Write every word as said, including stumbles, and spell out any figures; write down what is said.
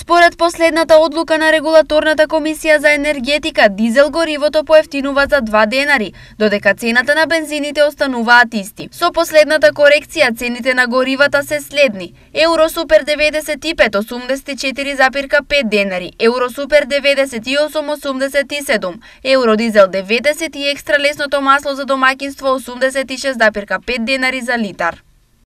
Според последната одлука на Регулаторната комисија за енергетика, дизел горивото поевтинува за два денари, додека цената на бензините остануваат исти. Со последната корекција цените на горивата се следни: Евро Супер деветдесет и пет осумдесет и четири запирка пет денари, Евро Супер деветдесет и осум осумдесет и седум, Евро Дизел деветдесет и екстра лесното масло за домаќинство осумдесет и шест запирка пет денари за литар.